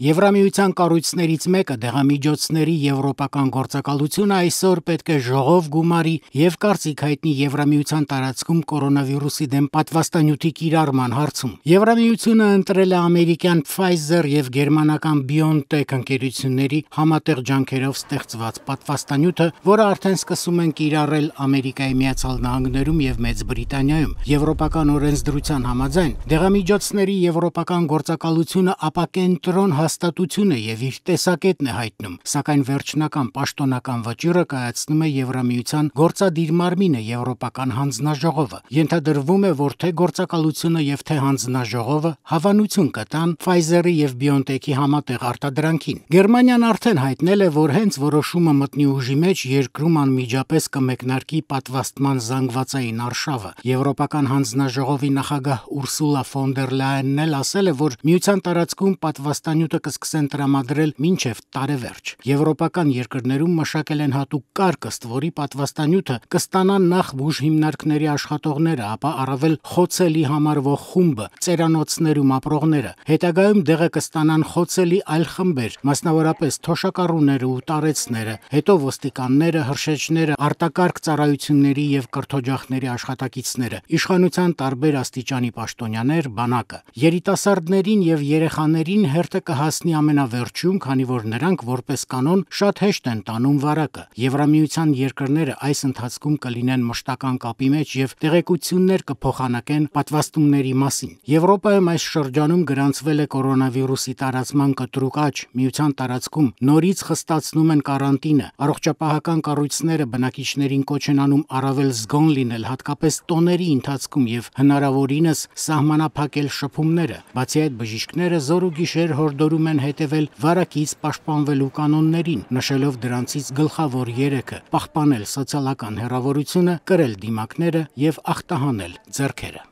Եվրամիության կառույցներից մեկը դեղամիջոցների եվրոպական գործակալությունը այսօր պետք է ժողով գումարի եւ կարծիք հայտնի Եվրամիության տարածքում կորոնավիրուսի դեմ պատվաստանյութի կիրառման հարցում։ Եվրամիությունը ընտրել է ամերիկյան Pfizer եւ գերմանական BioNTech ընկերությունների համատեղ ջանքերով ստեղծված պատվաստանյութը, որը արդեն սկսում են կիրառել Ամերիկայի Միացյալ Նահանգներում եւ Մեծ Բրիտանիայում։ Եվրոպական օրենսդրության համաձայն դեղամիջոցների եվրոպական գործակալությունը ապակենտրոն հաստատություն է եւ իր տեսակետն է հայտնում, սակայն վերջնական պաշտոնական վճիռը կայացնում է Եվրամիության գործադիր մարմինը Եվրոպական հանձնաժողովը։ Ենթադրվում է, որ թե գործակալությունը եւ թե հանձնաժողովը հավանություն կտան Pfizer-ի եւ BioNTech-ի համատեղ արտադրանքին։ Գերմանիան արդեն հայտնել է, որ հենց որոշումը մտնի ուժի մեջ երկրում անմիջապես կմեկնարկի պատվաստման զանգվածային արշավը։ Եվրոպական հանձնաժողովի նախագահ Ուրսուլա ֆոն դեր Լայենն էլ ասել է, որ միության տարածքում պատվաստանյութը կսկսեն տրամադրել մինչև տարեվերջ։ Եվրոպական երկրներում մշակել են հատուկ կարգ, ըստ որի պատվաստանյութը կստանան նախ բուժ հիմնարկների աշխատողները, ապա առավել խոցելի համարվող խումբը, ծերանոցներում ապրողները։ Հետագայում դեղը կստանան խոցելի այլ խմբեր, մասնավորապես թոշակառուները ու տարեցները, հետո ոստիկանները, հրշեջները, արտակարգ ծառայությունների եւ կրթօջախների աշխատակիցները, իշխանության տարբեր աստիճանի պաշտոնյաներ, բանակը։ Երիտասարդներին եւ երեխաներին հերթը կհասնի ամենավերջում, քանի որ նրանք որպես կանոն շատ հեշտ են տանում վարակը։ Եվրամիության երկրները այս ընթացքում կլինեն մշտական կապի մեջ եւ տեղեկություններ կփոխանակեն պատվաստումների մասին։ Եվրոպայում այս շրջանում գրանցվել է կորոնավիրուսի տարածման կտրուկ աճ, միության տարածքում նորից խստացնում են կարանտինը, առողջապահական կառույցները բնակիչներին կոչ են անում առավել զգոն լինել, հատկապես տոների ընթացքում եւ հնարավորինս սահմանափակել շփումները։ Բացի այդ, բժիշկները զոր ու գիշեր հորդորում են հետևել վարակից պաշտպանվելու կանոններին, նշելով դրանցից գլխավոր երեքը՝ պահպանել սոցիալական հեռավորությունը, կրել դիմակները եւ ախտահանել ձեռքերը։